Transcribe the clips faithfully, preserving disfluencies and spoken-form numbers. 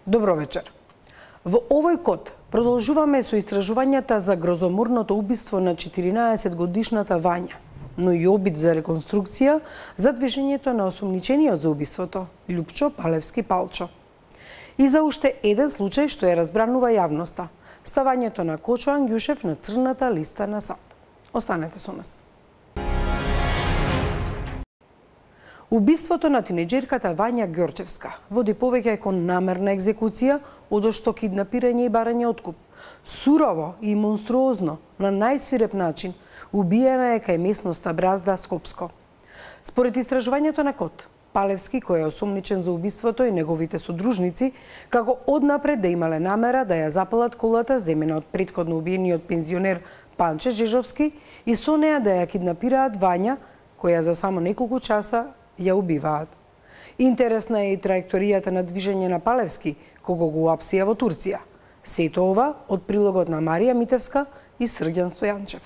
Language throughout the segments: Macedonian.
Добро вечер. Во овој код продолжуваме со истражувањата за грозоморното убиство на четиринаесет годишната Вања, но и обид за реконструкција за движењето на осомничениот за убиството Љупчо Палевски Палчо. И за уште еден случај што ја разбранува јавноста – ставањето на Кочо Ангјушев на црната листа на САД. Останете со нас. Убиството на тинеџерката Вања Ѓорчевска води повеќе кон намерна екзекуција, одошто киднапирање и барање откуп. Сурово и монструозно, на најсвиреп начин, убиена е кај местноста Бразда, Скопско. Според истражувањето на КОД, Палевски, кој е осомничен за убиството, и неговите содружници, како однапред да имале намера да ја запалат колата земена од претходно убиениот пензионер Панче Жежовски и со неа да ја киднапираат Вања, која за само неколку часа ја убиваат. Интересна е и траекторијата на движење на Палевски, кога го апсија во Турција. Сето ова од прилогот на Марија Митевска и Срѓан Стојанчев.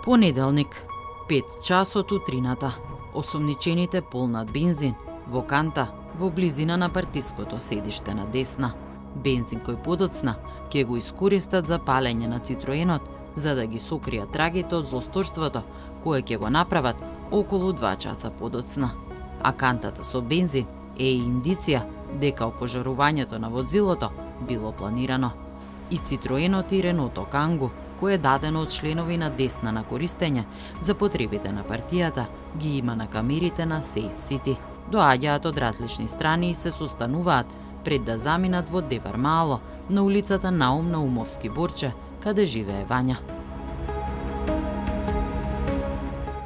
Понеделник, пет часот утрината. Осомничените полнат бензин во канта во близина на партиското седиште на Десна. Бензин кој подоцна ќе го искористат за палење на Цитроенот, за да ги сокријат трагите од злосторството, кое ќе го направат околу два часа подоцна. А кантата со бензин е индиција дека опожарувањето на возилото било планирано. И Цитроенот и Реното Кангу, кое е дадено од членови на Десна на користење за потребите на партијата, ги има на камерите на Сейф Сити. Доаѓаат од различни страни и се состануваат пред да заминат во Дебар Мало, на улицата Наум Наумовски Борче, каде живее Вања.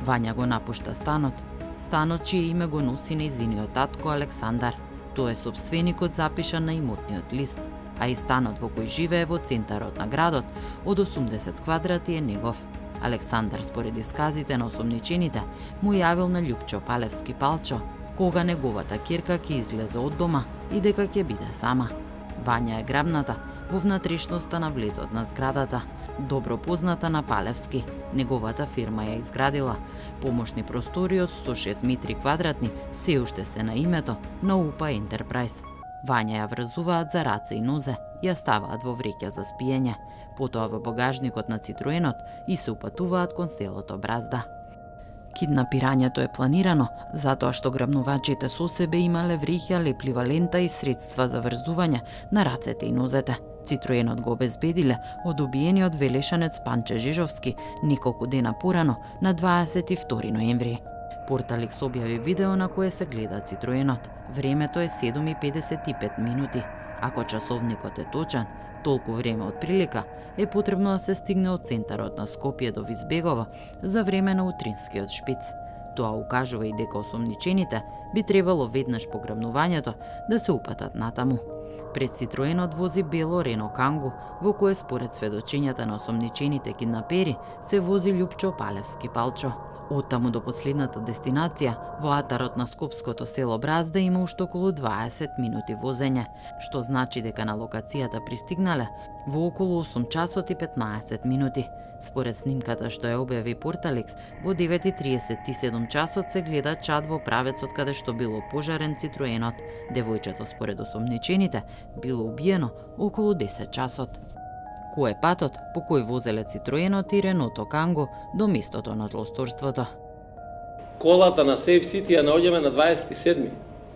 Вања го напушта станот, станот чие име го носи нејзиниот татко Александар. Тој е сопственикот запишан на имотниот лист, а и станот во кој живее во центарот на градот од осумдесет квадрати е негов. Александар, според исказите на осомничените, му јавил на Љупчо Палевски Палчо кога неговата ќерка ќе излезе од дома и дека ќе биде сама. Вања е грабната во внатрешноста на влезот на зградата, добро позната на Палевски. Неговата фирма ја изградила. Помошни простори од сто шест метри квадратни се уште се на името на УПА Ентерпрајз. Вања ја врзуваат за раце и нозе, ја ставаат во вреќа за спиење, потоа во багажникот на Цитроенот и се упатуваат кон селото Бразда. Киднапирањето е планирано затоа што грабнувачите со себе имале вреќа, леплива лента и средства за врзување на рацете и нозете. Цитроенот го обезбедиле од убиениот велешанец Панче Жежовски неколку дена порано, на дваесет и втори ноември. Порталикс објави видео на кое се гледа Цитроенот. Времето е седум и педесет и пет минути. Ако часовникот е точен, толку време од прилика е потребно да се стигне од центарот на Скопје до Визбегово за време на утринскиот шпиц. Тоа укажува и дека осомничените би требало веднаш по грабнувањето да се упатат натаму. Пред Цитроенот вози бело Рено Кангу, во кое според сведочењата на осомничените киднапери се вози Љупчо Палевски Палчо. Оттаму до последната дестинација, во атарот на скопското село Бразда, има уште околу дваесет минути возење, што значи дека на локацијата пристигнале во околу осум часот и петнаесет минути. Според снимката што ја објави Порталикс, во девет и триесет и седум часот се гледа чад во правецот каде што било пожарен Цитроенот. Девојчето според осомничените било убиено околу десет часот. Кој е патот по кој возеле Цитроенот и Реното Канго до местото на злосторството? колата на Safe City ја наоѓаме на дваесет и седми,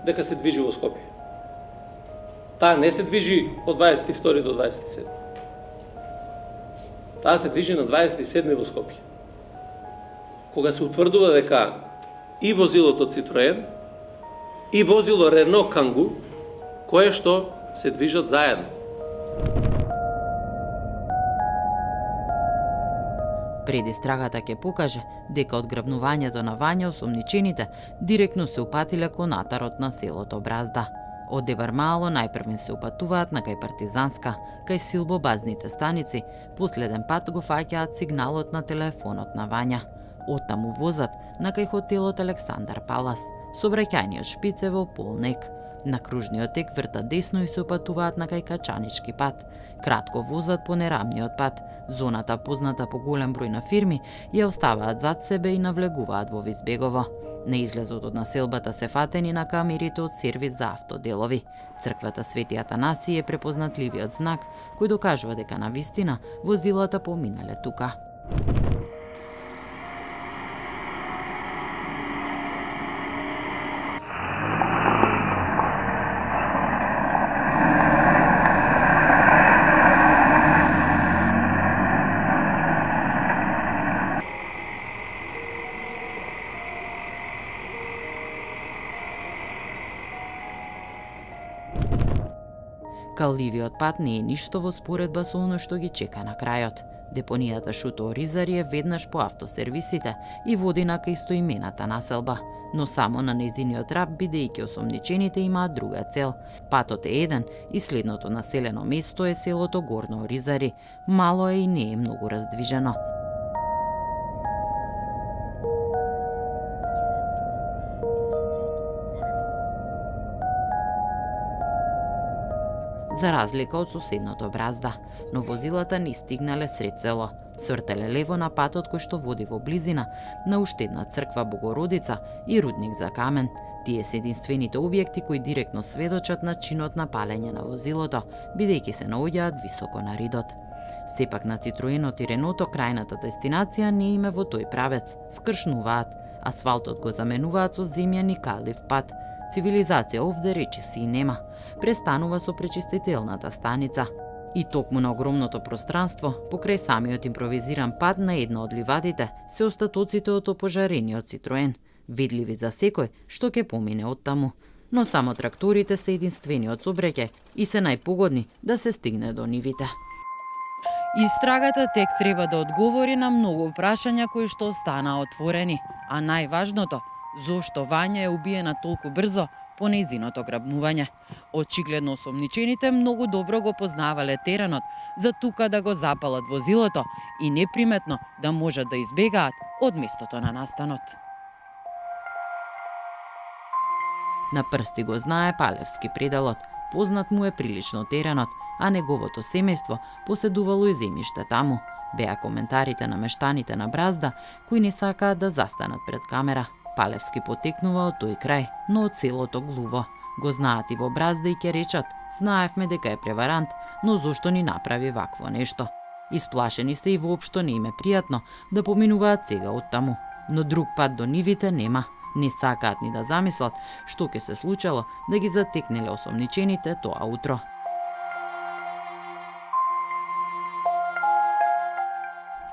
дека се движи во Скопје. Таа не се движи од дваесет и втори до дваесет и седми. Таа се движи на дваесет и седми во Скопје. Кога се утврдува дека и возилото Citroen и возило Renault Kangoo, кое што се движат заедно. Предистрагата ќе покаже дека од грабнувањето на Вања осомничените директно се упатиле кон атарот на селото Бразда. Од Дебармало најпрвен се упатуваат на кај Партизанска, кај силбобазните станици, последен пат го фаќаат сигналот на телефонот на Вања. Оттаму возат на кај хотелот Александар Палас, сообраќајниот шпиц е во Полнек. На кружниот тек вртат десно и се упатуваат на кај Качанички пат. Кратко возат по нерамниот пат. Зоната, позната по голем број на фирми, ја оставаат зад себе и навлегуваат во Визбегово. На излезот од населбата се фатени на камерите од сервис за автоделови. Црквата Свети Атанаси е препознатливиот знак кој докажува дека на вистина возилата поминале тука. Калливиот пат не е ништо во споредба со оно што ги чека на крајот. Депонијата Шуто Оризари е веднаш по автосервисите и води на кај истоимената населба, но само на незиниот раб, бидејќи осомничените имаат друга цел. Патот е еден и следното населено место е селото Горно Оризари. Мало е и не е многу раздвижено. За разлика од соседното Бразда, но возилата не стигнале сред село. Свртеле лево на патот кој што води во близина на уште една црква Богородица и рудник за камен. Тие се единствените објекти кои директно сведочат на чинот на палење на возилото, бидејќи се наоѓаат високо на ридот. Сепак на Citroenот и Реното крајната дестинација не име во тој правец. Скршнуваат. Асфалтот го заменуваат со земјани калив пат. Цивилизација овде речи си и нема. Престанува со пречистителната станица. И токму на огромното пространство, покрај самиот импровизиран пат на една од ливадите, се остатоците од опожарениот Citroen, видливи за секој што ќе помине оттаму. Но само тракторите се единствениот сообраќај и се најпогодни да се стигне до нивите. Истрагата тек треба да одговори на многу прашања кои што останаа отворени, а најважното, зошто Вања е убиена толку брзо по нејзиното грабнување. Очигледно осомничените многу добро го познавале теренот за тука да го запалат возилото и неприметно да можат да избегаат од местото на настанот. На прсти го знае Палевски пределот, познат му е прилично теренот, а неговото семејство поседувало и земјиште таму. Беа коментарите на мештаните на Бразда кои не сакаат да застанат пред камера. Палевски потекнува од тој крај, но од селото Глуво. Го знаат и во Бразда и ќе речат, знаевме дека е преварант, но зошто ни направи вакво нешто. Исплашени се и воопшто не им е пријатно да поминуваат сега оттаму, но друг пат до нивите нема. Не сакаат ни да замислат што ќе се случило да ги затекнеле осомничените тоа утро.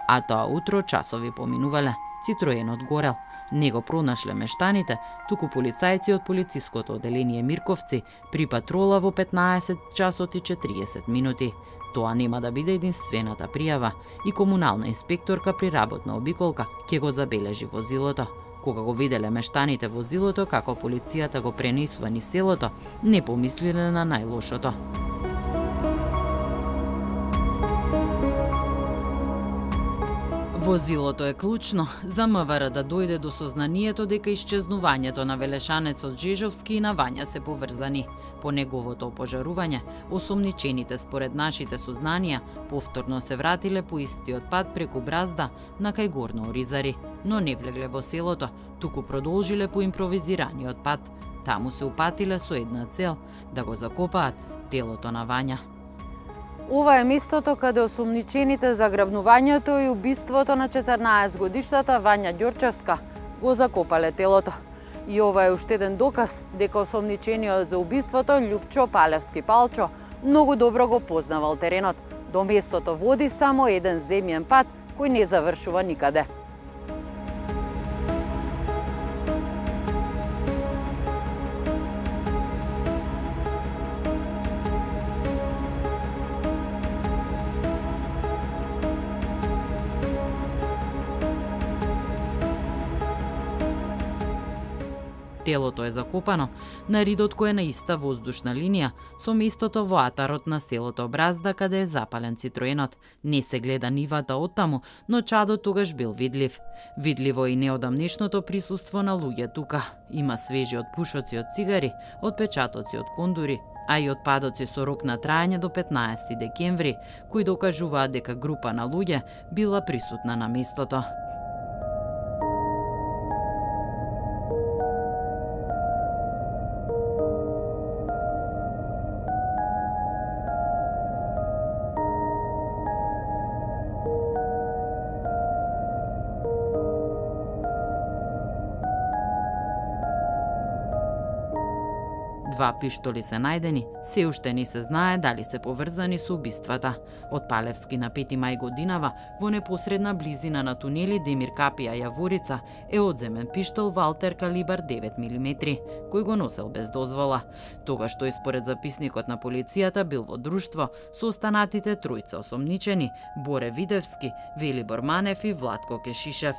А тоа утро часови поминувале. Citroenот горел. Не го пронашле мештаните, туку полицајци од полициското оделение Мирковци при патрола во петнаесет часот и четириесет минути. Тоа нема да биде единствената пријава и комунална инспекторка при работна обиколка ќе го забележи возилото. Кога го виделе мештаните возилото како полицијата го пренесува низ селото, не помислиле на најлошото. Возилото е клучно за МВР да дојде до сознанието дека исчезнувањето на велешанецот Жежовски и на Вања се поврзани. По неговото опожарување, осомничените според нашите сознанија повторно се вратиле по истиот пат преку Бразда на кај Горно Оризари, но не влегле во селото, туку продолжиле по импровизираниот пат. Таму се упатиле со една цел – да го закопаат телото на Вања. Ова е местото каде осомничените за грабнувањето и убиството на четрнаесет годишната Вања Ѓорчевска го закопале телото. И ова е уште еден доказ дека осомничениот за убиството Љупчо Палевски Палчо многу добро го познавал теренот. До местото води само еден земјен пат кој не завршува никаде. Телото е закопано на ридот кој е на иста воздушна линија со местото во атарот на селото Бразда каде е запален Цитроенот. Не се гледа нивата оттаму, но чадот тогаш бил видлив. Видливо и неодамнешното присуство на луѓе тука. Има свежи отпушоци од цигари, отпечатоци од кондури, а и отпадоци со рок на траење до петнаесети декември, кои докажуваат дека група на луѓе била присутна на местото. Два пиштоли се најдени, се уште не се знае дали се поврзани со убиствата. Од Палевски на пети мај годинава, во непосредна близина на тунели Демир Капија Јаворица, е одземен пиштол Валтер калибар девет милиметри, кој го носел без дозвола. Тогаш тој според записникот на полицијата бил во друштво со останатите тројца осомничени, Боре Видевски, Велибор Манев и Владко Кешишев.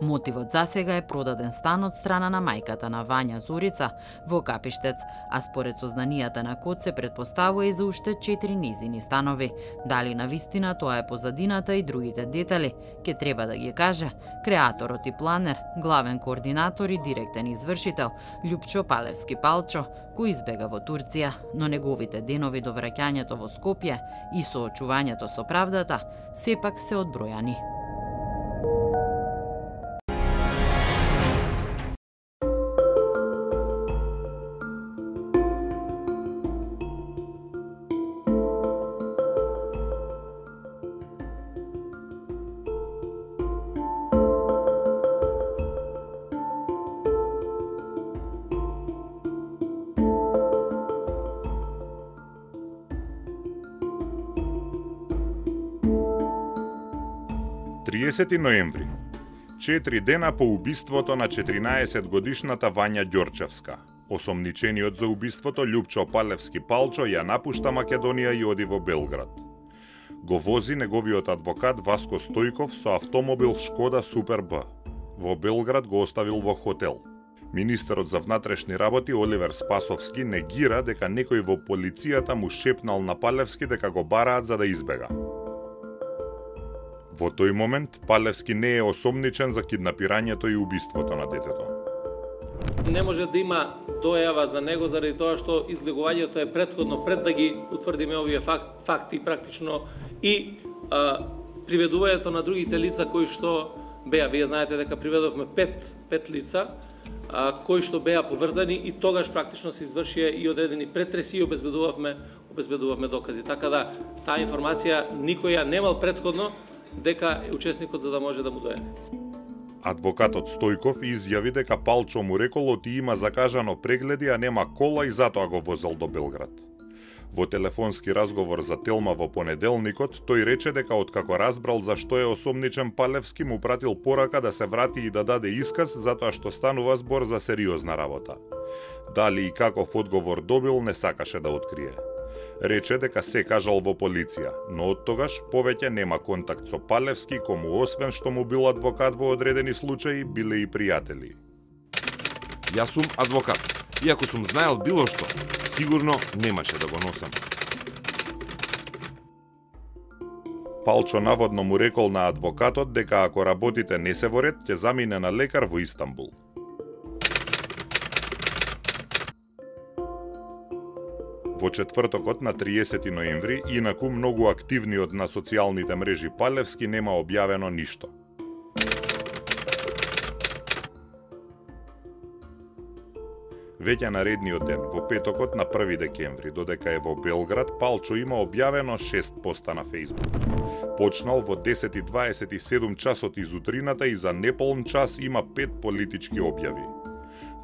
Мотивот засега е продаден стан од страна на мајката на Вања Зорица во Капиштец, а според сознанијата на Код се предпоставува и за уште четири низини станови. Дали навистина тоа е позадината и другите детали, ке треба да ги каже креаторот и планер, главен координатор и директен извршител Љупчо Палевски Палчо, кој избега во Турција, но неговите денови до враќањето во Скопје и соочувањето со правдата сепак се одбројани. триесети ноември. Четири дена по убиството на четиринаесетгодишната Вања Ѓорчевска. Осомничениот за убиството Љупчо Палевски Палчо ја напушта Македонија и оди во Белград. Го вози неговиот адвокат Васко Стојков со автомобил Шкода Супер Б. Во Белград го оставил во хотел. Министерот за внатрешни работи Оливер Спасовски негира дека некој во полицијата му шепнал на Палевски дека го бараат за да избега. Во тој момент Палевски не е осомничен за киднапирањето и убиството на детето. Не може да има дојава за него заради тоа што излегувањето е претходно пред да ги утврдиме овие факт, факти практично и а, приведувањето на другите лица кои што беа, вие знаете дека приведовме пет, пет лица а, кои што беа поврзани и тогаш практично се извршија и одредени претреси и обезбедувавме, обезбедувавме докази. Така да таа информација никој ја немал претходно дека е учесникот за да може да му дојде. Адвокатот Стојков изјави дека Палчо му рекол оти има закажано прегледи, а нема кола и затоа го возел до Белград. Во телефонски разговор за Телма во понеделникот, тој рече дека откако разбрал зашто е осомничен Палевски, му пратил порака да се врати и да даде исказ затоа што станува збор за сериозна работа. Дали и каков одговор добил не сакаше да открие. Рече дека се кажал во полиција, но од тогаш повеќе нема контакт со Палевски, кому освен што му бил адвокат во одредени случаи, биле и пријатели. Јас сум адвокат. Иако сум знаел било што, сигурно немаше да го носам. Палчо наводно му рекол на адвокатот дека ако работите не се во ред, ќе замине на лекар во Истанбул. Во четвртокот на триесети ноември, инаку многу активниот на социјалните мрежи Палевски нема објавено ништо. Веќе наредниот ден, во петокот на први декември, додека е во Белград, Палчо има објавено шест поста на Фејсбук. Почнал во десет и дваесет и седум часот изутрината и за неполн час има пет политички објави.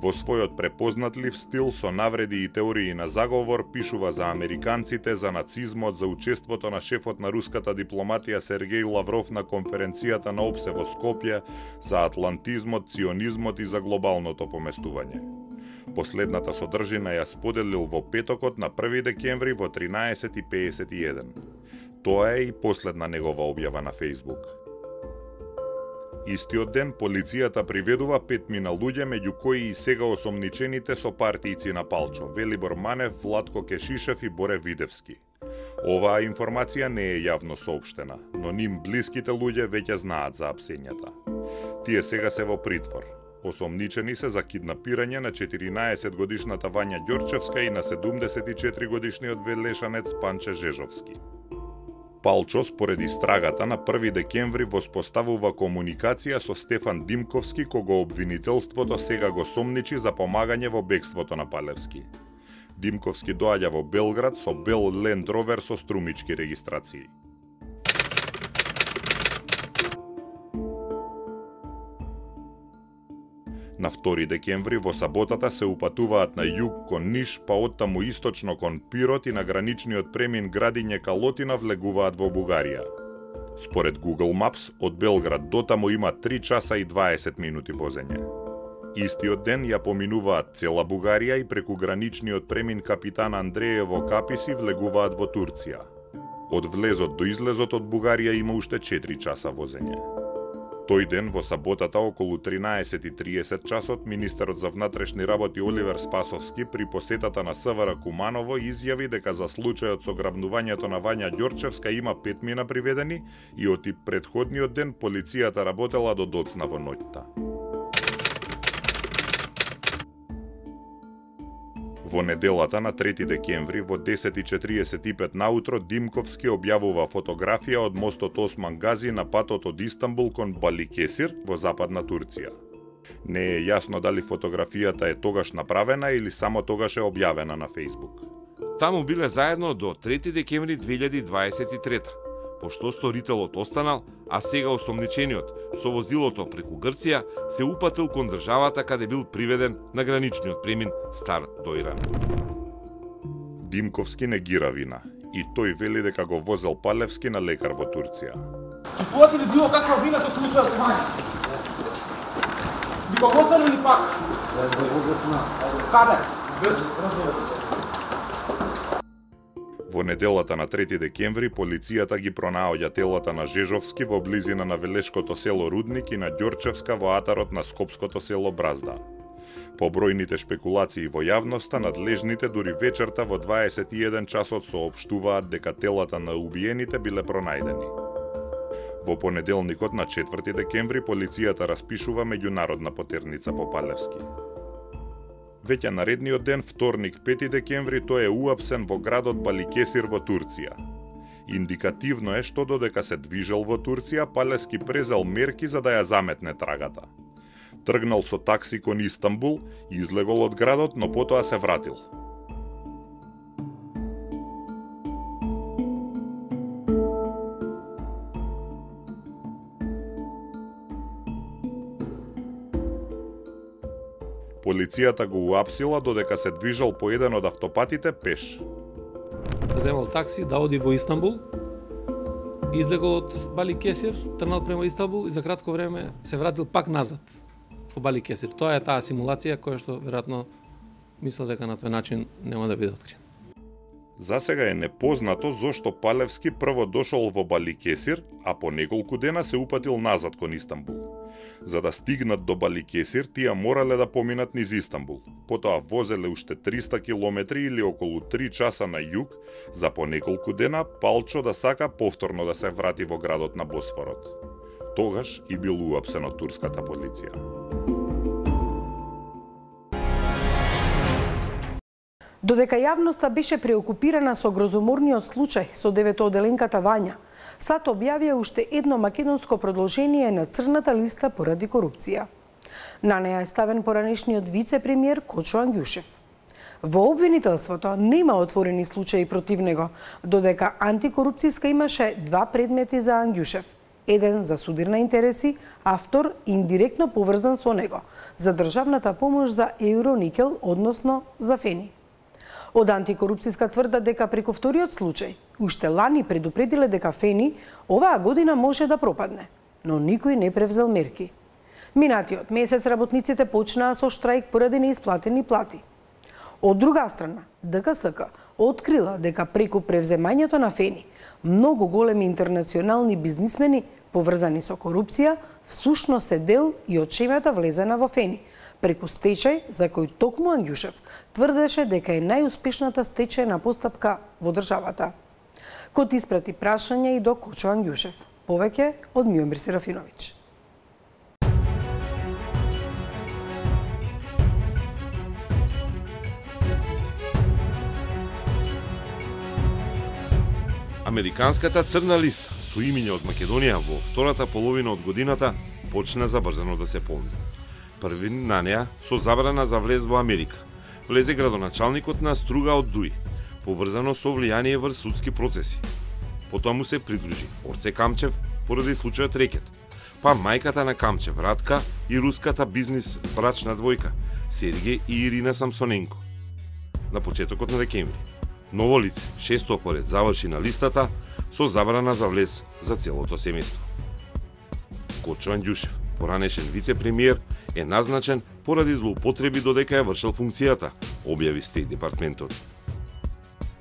Во својот препознатлив стил со навреди и теории на заговор пишува за американците, за нацизмот, за учеството на шефот на руската дипломатија Сергеј Лавров на конференцијата на ОПСЕ во Скопје, за атлантизмот, ционизмот и за глобалното поместување. Последната содржина ја споделил во петокот на први декември во тринаесет и пеесет и еден. Тоа е и последна негова објава на Facebook. Истиот ден полицијата приведува петмина луѓе, меѓу кои и сега осомничените со партијци на Палчо, Велибор Манев, Владко Кешишев и Боре Видевски. Оваа информација не е јавно соопштена, но ним блиските луѓе веќе знаат за апсењата. Тие сега се во притвор. Осомничени се за киднапирање на четиринаесет годишната Вања Ѓорчевска и на седумдесет и четири годишниот велешанец Панче Жежовски. Палчо, според истрагата, на први декември воспоставува комуникација со Стефан Димковски, кого обвинителството сега го сомничи за помагање во бегството на Палевски. Димковски доаѓа во Белград со бел Land Rover со струмички регистрации. На втори декември во саботата се упатуваат на југ кон Ниш, па оттаму источно кон Пирот и на граничниот премин Градиње Калотина влегуваат во Бугарија. Според Google Maps, од Белград до таму има три часа и дваесет минути возење. Истиот ден ја поминуваат цела Бугарија и преку граничниот премин Капитан Андреево Каписи влегуваат во Турција. Од влезот до излезот од Бугарија има уште четири часа возење. Тој ден, во саботата, околу тринаесет и триесет часот, министерот за внатрешни работи Оливер Спасовски при посетата на СВР Куманово изјави дека за случајот со грабнувањето на Вања Ѓорчевска има петмина приведени и од и претходниот ден полицијата работела до доцна во ноќта. Во неделата на трети декември во десет и четириесет и пет наутро Димковски објавува фотографија од мостот Осман Гази на патот од Истанбул кон Баликесир во западна Турција. Не е јасно дали фотографијата е тогаш направена или само тогаш е објавена на Facebook. Таму биле заедно до трети декември две илјади дваесет и трета, пошто сторителот останал, а сега осомничениот со возилото преку Грција се упатил кон државата каде бил приведен на граничниот премин Стар Дојран. Димковски негира вина и тој вели дека го возел Палевски на лекар во Турција. Чувствувате ли било каква вина со случајот со Вања? Ви го возел или пак? Каде? Без разумество. Во неделата на трети декември полицијата ги пронаоѓа телата на Жежовски во близина на Велешкото село Рудник и на Ѓорчевска во атарот на скопското село Бразда. По бројните шпекулации во јавноста, надлежните дури вечерта во дваесет и еден часот соопштуваат дека телата на убиените биле пронајдени. Во понеделникот на четврти декември полицијата распишува меѓународна потерница по Палевски. Веќе наредниот ден, вторник пети декември, тој е уапсен во градот Баликесир во Турција. Индикативно е што додека се движел во Турција, Палевски презел мерки за да ја заметне трагата. Тргнал со такси кон Истанбул, излегол од градот, но потоа се вратил. Полицијата го уапсила додека се движел по еден од автопатите пеш. Земал такси да оди во Истанбул, излегол од Баликесир, тргнал према Истанбул и за кратко време се вратил пак назад во Баликесир. Тоа е таа симулација која што веројатно мисля дека на тој начин нема да биде открит. За сега е непознато зошто Палевски прво дошол во Баликесир, а по неколку дена се упатил назад кон Истанбул. За да стигнат до Баликесир, тие морале да поминат низ Истанбул. Потоа возеле уште триста километри или околу три часа на југ, за по неколку дена Палчо да сака повторно да се врати во градот на Босфорот. Тогаш и бил уапсен од турската полиција. Додека јавноста беше преокупирана со грозоморниот случај со деветооделенката Вања, САД објавија уште едно македонско продолжение на црната листа поради корупција. На неја е ставен поранешниот вице-премиер Кочо Ангјушев. Во обвинителството нема отворени случаи против него, додека антикорупцијска имаше два предмети за Ангјушев. Еден за судир на интереси, а втор индиректно поврзан со него, за државната помош за Евроникел, односно за Фени. Од антикорупцијска тврда дека преку вториот случај, уште лани предупредиле дека Фени оваа година може да пропадне, но никој не превзел мерки. Минатиот месец работниците почнаа со штрајк поради неисплатени плати. Од друга страна, ДКСК открила дека преку превземањето на Фени, многу големи интернационални бизнисмени поврзани со корупција, всушност се дел и од шемата влезена во Фени, преку стечај за кој токму Ангјушев тврдеше дека е најуспешната стечајна постапка во државата. Кот испрати прашање и до Кочо Ангјушев. Повеќе од Миомир Серафиновиќ. Американската црна листа со имиња од Македонија во втората половина од годината почна забрзано да се помни. Први на неа со забрана за влез во Америка влезе градоначалникот на Струга од Дуи, поврзано со влијание врз судски процеси. Потоа му се придружи Орце Камчев поради случајот Рекет, па мајката на Камчев Радка и руската бизнис брачна двојка Сергеј и Ирина Самсоненко. На почетокот на декември ново лице, шесто поред, заврши на листата со забрана за влез за целото семејство. Кочо Ангјушев, поранешен вице-премиер, е назначен поради злоупотреби додека ја вршел функцијата, објави Стејт департментот.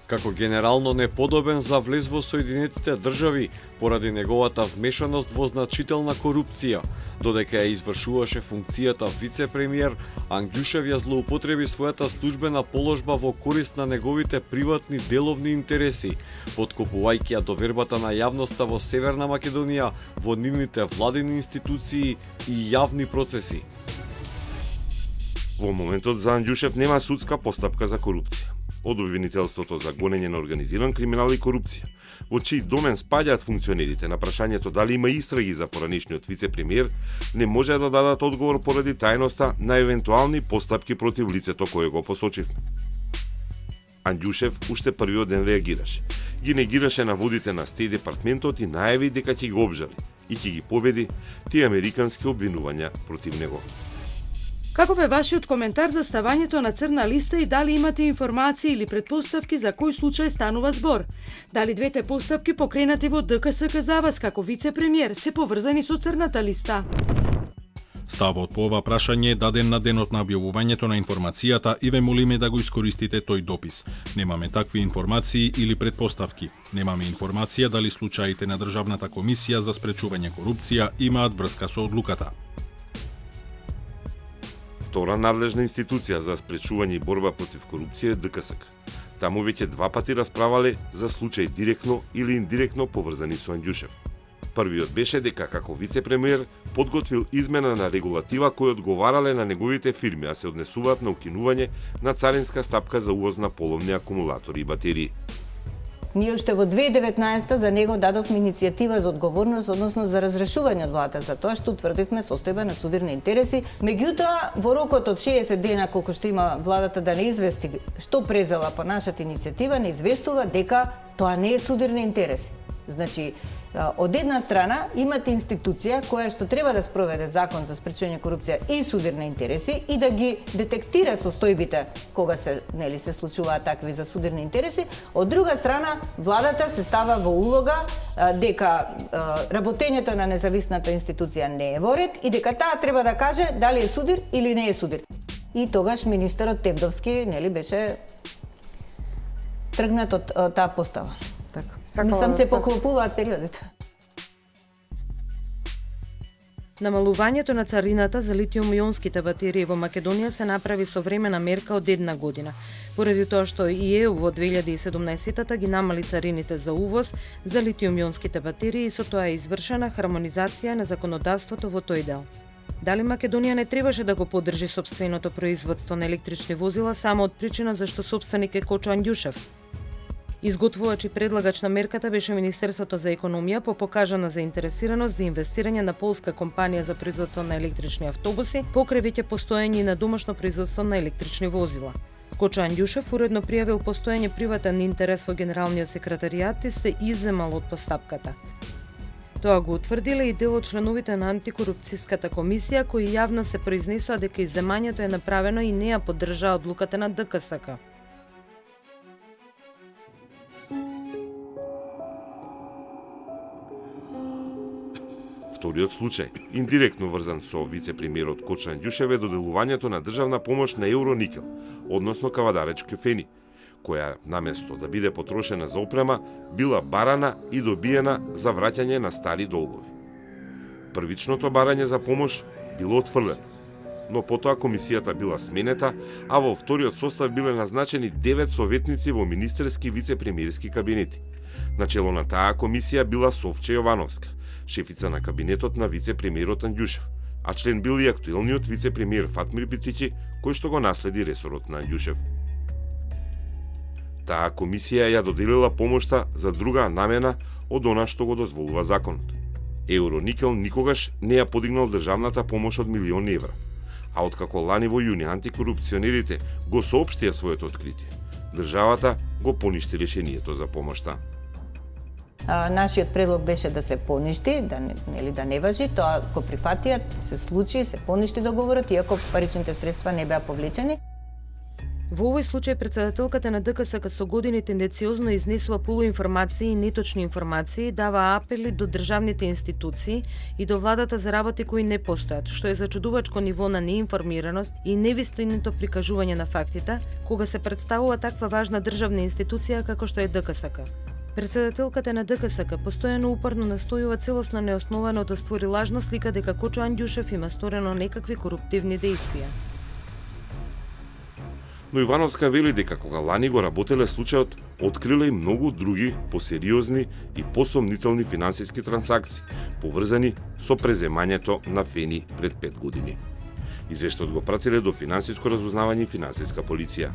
Како генерално неподобен за влез во Соединетите држави поради неговата вмешаност во значителна корупција, додека ја извршуваше функцијата вице-премиер, Ангјушев ја злоупотреби својата службена положба во корист на неговите приватни деловни интереси, подкопувајќи ја довербата на јавноста во Северна Македонија во нивните владини институции и јавни процеси. Во моментот за Ангјушев нема судска постапка за корупција. Од обвинителството за гонење на организиран криминал и корупција, во чиј домен спаѓаат функционерите, на прашањето дали има истраги за поранешниот вице-премиер, не може да дадат одговор поради тајноста на евентуални постапки против лицето кое го посочивме. Ангјушев уште првиот ден реагираше. Ги негираше наводите на Стејт департментот и најави дека ќе го обжали и ќе ги победи тие американски обвинувања против него. Како бе вашиот коментар за ставањето на црна листа и дали имате информации или предпоставки за кој случај станува збор? Дали двете постапки покренати во ДКСК за вас како вице-премиер се поврзани со црната листа? Ставот по ова прашање е даден на денот на објавувањето на информацијата и ве молиме да го искористите тој допис. Немаме такви информации или предпоставки. Немаме информација дали случаите на Државната комисија за спречување корупција имаат врска со одлуката. Втора надлежна институција за спречување и борба против корупција е ДКСК. Таму веќе два пати расправале за случаи директно или индиректно поврзани со Ангјушев. Првиот беше дека како вице-премиер подготвил измена на регулатива кои одговарале на неговите фирми, а се однесуваат на укинување на царинска стапка за увоз на половни акумулатори и батерии. Ние уште во две илјади и деветнаесета за него дадовме иницијатива за одговорност, односно за разрешување од владата, за тоа што утврдивме состојба на судирни интереси. Меѓутоа, во рокот од шеесет дена колку што има владата да не извести што презела по нашата иницијатива, не известува дека тоа не е судирни интереси. Значи, од една страна имате институција која што треба да спроведе закон за спречување корупција и судирни интереси и да ги детектира состојбите кога се нели се случуваат такви за судирни интереси. Од друга страна, владата се става во улога дека работењето на независната институција не е во ред и дека таа треба да каже дали е судир или не е судир. И тогаш министерот Тевдовски нели беше тргнат од таа постава. Така. Не сам се поклопуваат периодите. Намалувањето на царината за литиум-ионските батерии во Македонија се направи со времена мерка од една година, поради тоа што и ЕУ во две илјади и седумнаесета ги намали царините за увоз за литиум-ионските батерии и со тоа е извршена хармонизација на законодавството во тој дел. Дали Македонија не требаше да го поддржи сопственото производство на електрични возила само од причина зашто сопственик е Кочо Ангјушев? Изготвувач и предлагач на мерката беше Министерството за економија по покажана заинтересираност за инвестирање на полска компанија за производство на електрични автобуси, покрај веќе постоење на домашно производство на електрични возила. Кочо Андјушев уредно пријавил постојање приватен интерес во Генералниот секретаријат и се изземал од постапката. Тоа го утврдиле и дел од членовите на антикорупцијската комисија, кои јавно се произнесоа дека изземањето е направено и не ја поддржаа одлуката на ДКСК. Вториот случај, индиректно врзан со вице-премиерот Кочо Андјушев, е доделувањето на државна помош на Евроникел, односно Кавадаречки фени, која наместо да биде потрошена за опрема, била барана и добиена за враќање на стари долгови. Првичното барање за помош било отфрлено, но потоа комисијата била сменета, а во вториот состав биле назначени девет советници во министерски вице-премиерски кабинети. Начело на таа комисија била Совче Јовановска, шефица на кабинетот на вице-премиерот Андјушев, а член бил и актуелниот вице-премиер Фатмир Битичи, кој што го наследи ресорот на Андјушев. Таа комисија ја доделила помошта за друга намена од она што го дозволува законот. Евроникел никогаш не ја подигнал државната помош од милиони евра, а откако лани во јуни антикорупционерите го соопштија своето откритие, државата го поништи решението за помошта. А, нашиот предлог беше да се поништи, да не, нели да не важи, тоа го прифатија, се случи, се поништи договорот, иако паричните средства не беа повлечени. Во овој случај председателката на ДКСК со години тенденциозно изнесува полуинформации и неточни информации, дава апели до државните институции и до владата за работи кои не постојат, што е зачудувачко ниво на неинформираност и невистинито прикажување на фактите, кога се представува таква важна државна институција како што е ДКСК. Председателката на ДКСК постојано упорно настојува целосно неосновано да створи лажна слика дека Кочо Андјушев има сторено некакви коруптивни дејствија. Но Ивановска вели дека кога лани го работеле случајот, откриле и многу други посериозни и посомнителни финансиски трансакции, поврзани со преземањето на фени пред пет години. Извештајот го пратиле до финансиско разузнавање и финансиска полиција.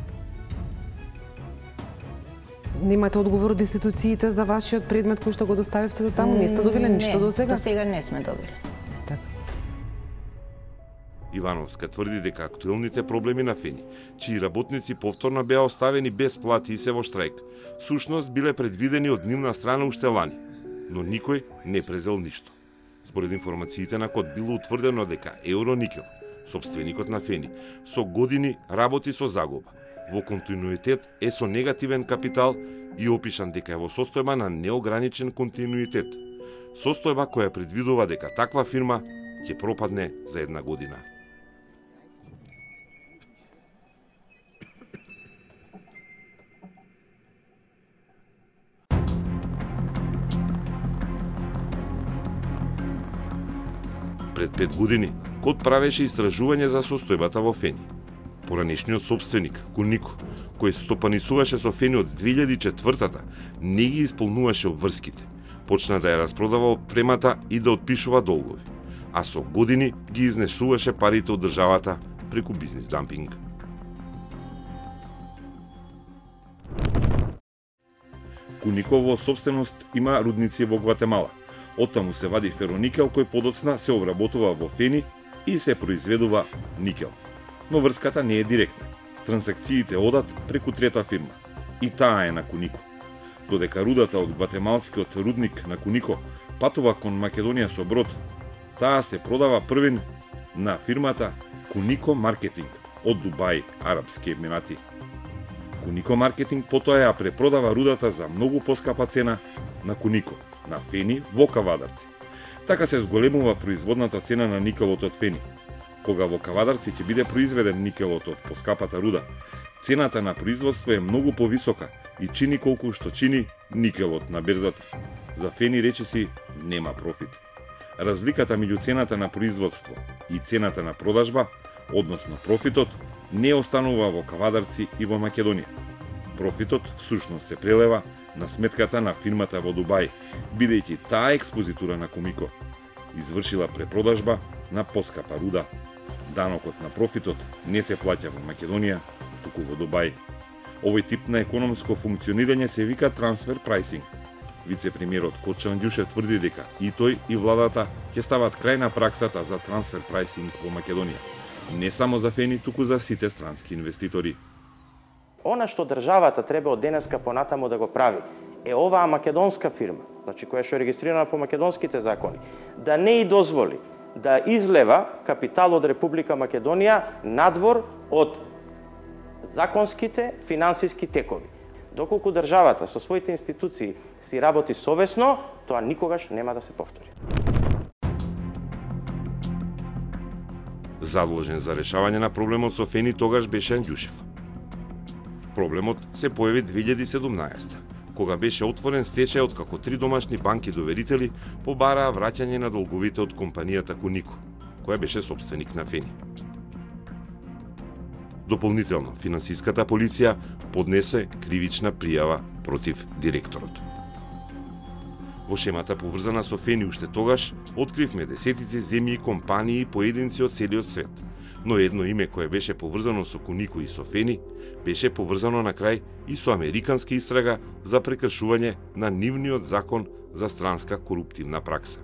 Немате одговор од институциите за вашиот предмет кој што го доставивте до таму? Не сте добиле ништо до сега? До сега не сме добили. Така. Ивановска тврди дека актуелните проблеми на фени, чии работници повторно беа оставени без плати и се во штрајк, всушност биле предвидени од нивна страна уште лани, но никој не презел ништо. Според информациите на Код било утврдено дека Евроникел, сопственикот на фени, со години работи со загуба, во континуитет е со негативен капитал и опишан дека е во состојба на неограничен континуитет, состојба која предвидува дека таква фирма ќе пропадне за една година. Пред пет години Код правеше истражување за состојбата во фени. Поранешниот собственик, Кунико, кој стопанисуваше со фени од две илјади и четвртата, не ги исполнуваше обврските. Почна да ја распродава опремата и да отпишува долгови, а со години ги изнесуваше парите од државата преку бизнис дампинг. Кунико во собственост има рудници во Гватемала. Оттаму се вади фероникел кој подоцна се обработува во фени и се произведува никел. Но врската не е директна. Трансакциите одат преку трета фирма. И таа е на Кунико. Додека рудата од гватемалскиот рудник на Кунико патува кон Македонија со брод, таа се продава првен на фирмата Кунико Маркетинг од Дубај, Арапски Емирати. Кунико Маркетинг потоа ја препродава рудата за многу поскапа цена на Кунико, на фени во Кавадарци. Така се зголемува производната цена на никелот од фени. Кога во Кавадарци ќе биде произведен никелот од поскапата руда, цената на производство е многу повисока и чини колку што чини никелот на берзата. За фени речиси нема профит. Разликата меѓу цената на производство и цената на продажба, односно профитот, не останува во Кавадарци и во Македонија. Профитот всушност се прелева на сметката на фирмата во Дубај, бидејќи таа експозитура на Кунико извршила препродажба на поскапа руда. Данокот на профитот не се плаќа во Македонија, туку во Дубај. Овој тип на економско функционирање се вика трансфер прайсинг. Вице-премиерот Кочо Андјушев тврди дека и тој и владата ќе стават крај на праксата за трансфер прайсинг во Македонија. Не само за фени, туку за сите странски инвеститори. Она што државата треба од денеска понатаму да го прави е оваа македонска фирма, значи која што е регистрирана по македонските закони, да не и дозволи да излева капитал од Република Македонија надвор од законските финансиски текови. Доколку државата со своите институции си работи совесно, тоа никогаш нема да се повтори. Задолжен за решавање на проблемот со Фени тогаш беше Анѓушев. Проблемот се појави две илјади и седумнаесета, кога беше отворен стечај од како три домашни банки доверители побараа враќање на долговите од компанијата Кунико, која беше сопственик на Фени. Дополнително, финансиската полиција поднесе кривична пријава против директорот. Во шемата поврзана со Фени уште тогаш откривме десетици земји и компании и поединци од целиот свет, но едно име кое беше поврзано со Кунико и со Фени беше поврзано на крај и со американска истрага за прекршување на нивниот закон за странска коруптивна пракса.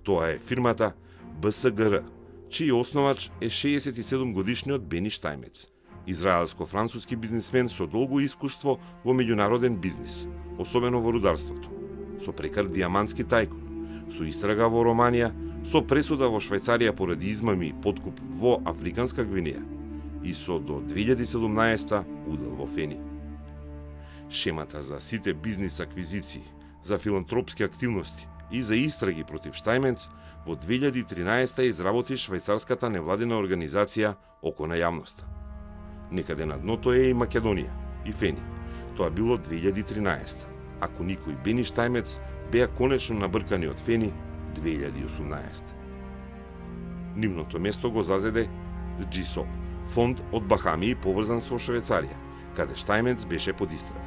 Тоа е фирмата Б С Г Р, чиј основач е шеесет и седум годишниот Бени Штајмец, израелско-француски бизнисмен со долго искуство во меѓународен бизнис, особено во рударството, со прекар диамантски тајкун, со истрага во Романија, со пресуда во Швајцарија поради измами и подкуп во Африканска Гвинеја и со до две илјади и седумнаесета удел во Фени. Шемата за сите бизнис аквизиции, за филантропски активности и за истраги против Штајмец во две илјади и тринаесета изработи швајцарската невладина организација Око на јавноста. Некаде на дното е и Македонија и Фени. Тоа било две илјади и тринаесета, а Кунико и Бени Штајмец беа конечно набркани од Фени две илјади и осумнаесета. Нивното место го зазеде Джисол, фонд од Бахамии поврзан со Швајцарија, каде Штајмец беше под истрага.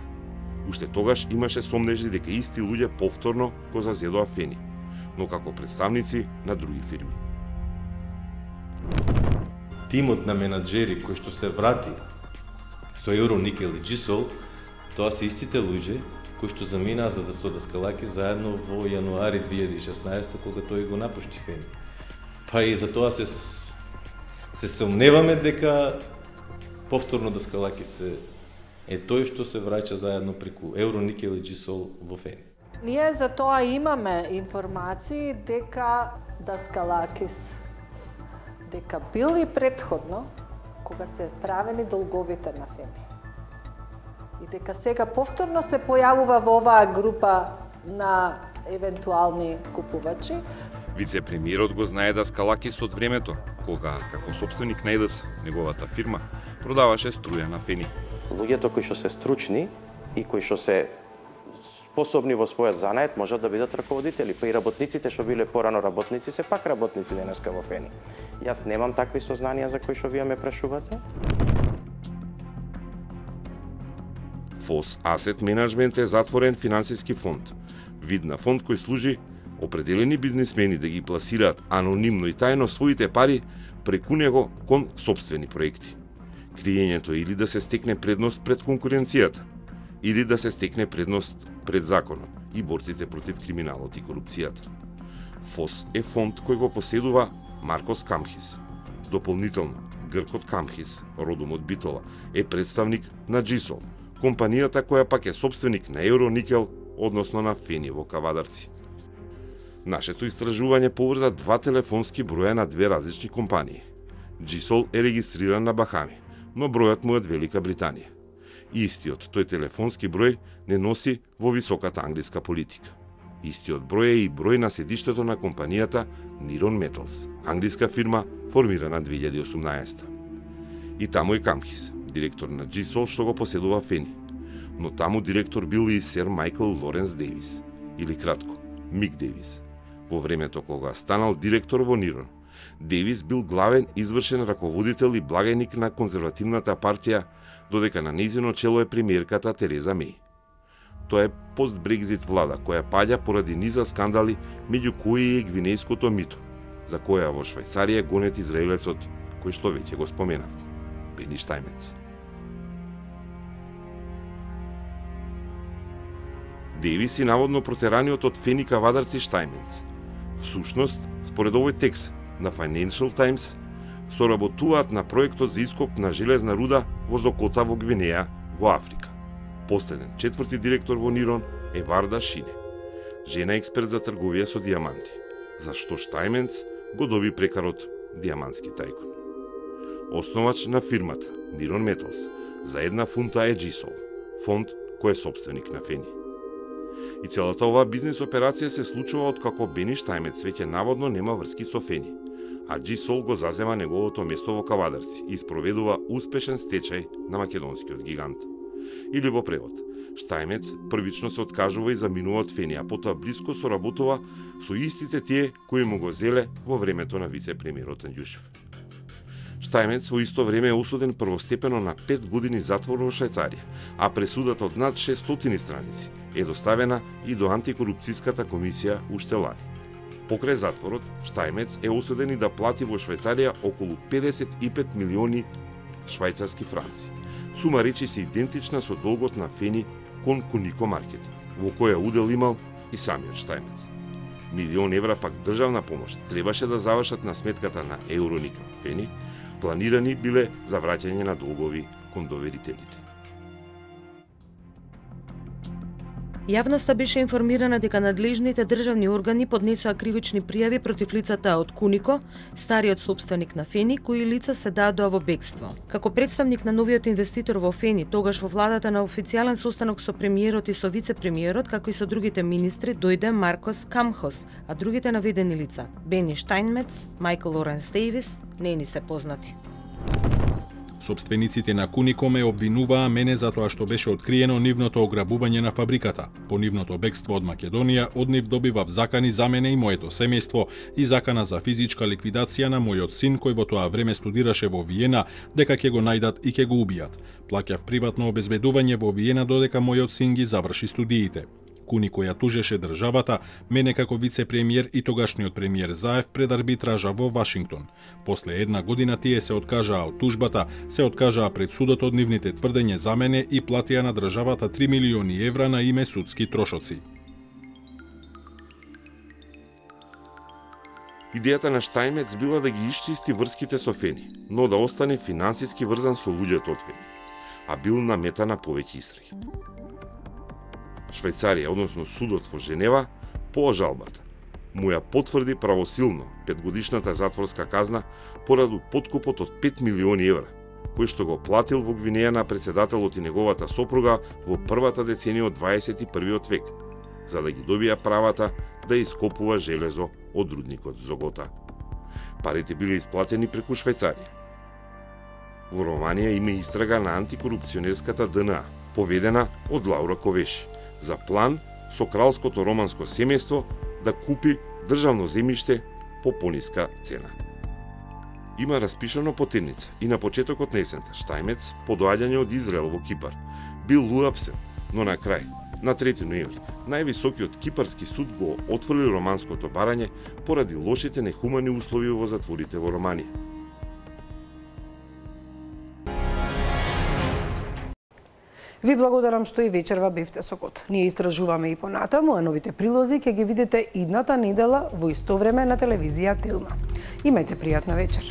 Уште тогаш имаше сомнежи дека исти луѓе повторно го зазедоа Фени, но како представници на други фирми. Тимот на менаџери кој што се врати со Евроникел и Джисол, тоа се истите луѓе кои што заминаа за да со Даскалаки заедно во јануари две илјади и шеснаесета кога тој го напушти Фени. Па и за тоа се се сомневаме дека повторно Даскалаки се е тој што се враќа заедно преку Евроникел и Джисол во Фени. Ние за тоа имаме информации дека Даскалакис дека бил и предходно кога се правени долговите на Фени. И дека сега повторно се појавува во оваа група на евентуални купувачи. Вице-премиерот го знае Даскалакис од времето, кога, како собственик на ЕДС, неговата фирма, продаваше струја на Фени. Луѓето кои што се стручни и кои што се способни во својот занает можат да бидат раководители, па и работниците што биле порано работници се пак работници денеска во Фени. Јас немам такви сознанија за кои што вие ме прашувате. Фос Asset Management е затворен финансиски фонд, вид на фонд кој служи определени бизнисмени да ги пласираат анонимно и тајно своите пари преку него кон сопствени проекти. Криењето или да се стекне предност пред конкуренцијата, или да се стекне предност пред законот и борците против криминалот и корупцијата. Фос е фонд кој го поседува Маркос Камхис. Дополнително, гркот Камхис, родом од Битола, е представник на Джисол, компанијата која пак е сопственик на Евроникел, односно на Фени во Кавадарци. Нашето истражување поврза два телефонски броја на две различни компании. Джисол е регистриран на Бахами, но бројот му е од Велика Британија. Истиот тој телефонски број не носи во високата англиска политика. Истиот број е и број на седиштето на компанијата Niron Metals, англиска фирма формирана две илјади и осумнаесета. И таму е Камхис, директор на Джисол што го поседува Фени. Но таму директор бил и сер Майкл Лоренс Дейвис, или кратко, Мик Дейвис. Во времето кога станал директор во Нирон, Дейвис бил главен извршен раководител и благајник на конзервативната партија, додека на нејзино чело е премиерката Тереза Меј. Тоа е пост-Брекзит влада која паѓа поради низа скандали, меѓу кои е гвинејското мито, за која во Швајцарија гонет израелецот, кој што веќе го споменав, Бени Штајмец. Дейвис и наводно протераниот од Фени Кавадарци Штајмец. Всушност, според овој текст на Financial Times, соработуваат на проектот за ископ на железна руда во Зокота во Гвинеја, во Африка. Последен, четврти директор во Нирон е Варда Шине, жена експерт за трговија со дијаманти, зашто Штајменц го доби прекарот дијамантски тајкун. Основач на фирмата Нирон Металс за една фунта е Джисол, фонд кој е собственик на Фени. И целата оваа бизнес операција се случува откако Бени Штајмец веќе наводно нема врски со Фени, а Джисол го зазема неговото место во Кавадарци и спроведува успешен стечај на македонскиот гигант. Или во превод, Штајмец првично се откажува и заминува од Фени, а потоа блиско соработува со истите тие кои му го зеле во времето на вице-премиерот Андјушев. Штајмец во исто време е осуден првостепено на пет години затвор во Швајцарија, а пресудата од над шестстотини страници е доставена и до антикорупцијската комисија уште лани. Покрај затворот, Штајмец е осуден и да плати во Швајцарија околу педесет и пет милиони швајцарски франци. Сума речи се идентична со долгот на Фени кон Кунико маркетинг, во која удел имал и самиот Штајмец. Милион евра пак државна помош требаше да завршат на сметката на Евроникел Фени, планирани биле за враќање на долгови кон доверителите. Јавноста беше информирана дека надлежните државни органи поднесоа кривични пријави против лицата од Кунико, стариот собственик на Фени, кои лица се дадоа во бегство. Како представник на новиот инвеститор во Фени, тогаш во владата на официјален состанок со премиерот и со вице-премиерот, како и со другите министри, дојде Маркос Камхос, а другите наведени лица, Бени Штајнмец, Майкл Лоренс Дейвис, не ни се познати. Собствениците на Кунико ме обвинуваа мене за тоа што беше откриено нивното ограбување на фабриката. По нивното бегство од Македонија, од нив добивав закани за мене и моето семејство и закана за физичка ликвидација на мојот син кој во тоа време студираше во Виена, дека ќе го најдат и ќе го убијат. Плаќав приватно обезбедување во Виена додека мојот син ги заврши студиите. Кунико ја тужеше државата, мене како вице-премиер и тогашниот премиер Заев пред арбитража во Вашингтон. После една година тие се откажаа од тужбата, се откажаа пред судот од нивните тврдење за мене и платија на државата три милиони евра на име судски трошоци. Идејата на Штајмец била да ги исчисти врските со Фени, но да остане финансиски врзан со луѓето од Фени, а бил на мета на повеќе истраги. Швајцарија, односно судот во Женева, по жалбата му ја потврди правосилно петгодишната затворска казна поради подкупот од пет милиони евра, кој што го платил во Гвинеја на председателот и неговата сопруга во првата деценија од дваесет и првиот век, за да ги добија правата да ископува железо од рудникот Зогота. Парите биле исплатени преку Швајцарија. Во Романија има истрага на антикорупционерската Д Н А, поведена од Лаура Ковеши, за план со кралското романско семејство да купи државно земјиште по пониска цена. Има распишано потерница и на почетокот на есента Штајмец по доаѓање од Израел во Кипар бил уапсен, но на крај, на трети ноември, највисокиот кипарски суд го отфрли романското барање поради лошите нехумани услови во затворите во Романија. Ви благодарам што и вечерва бевте со КОТ. Ние истражуваме и понатаму, а новите прилози ќе ги видите идната недела во исто време на телевизија Тилма. Имајте пријатна вечер.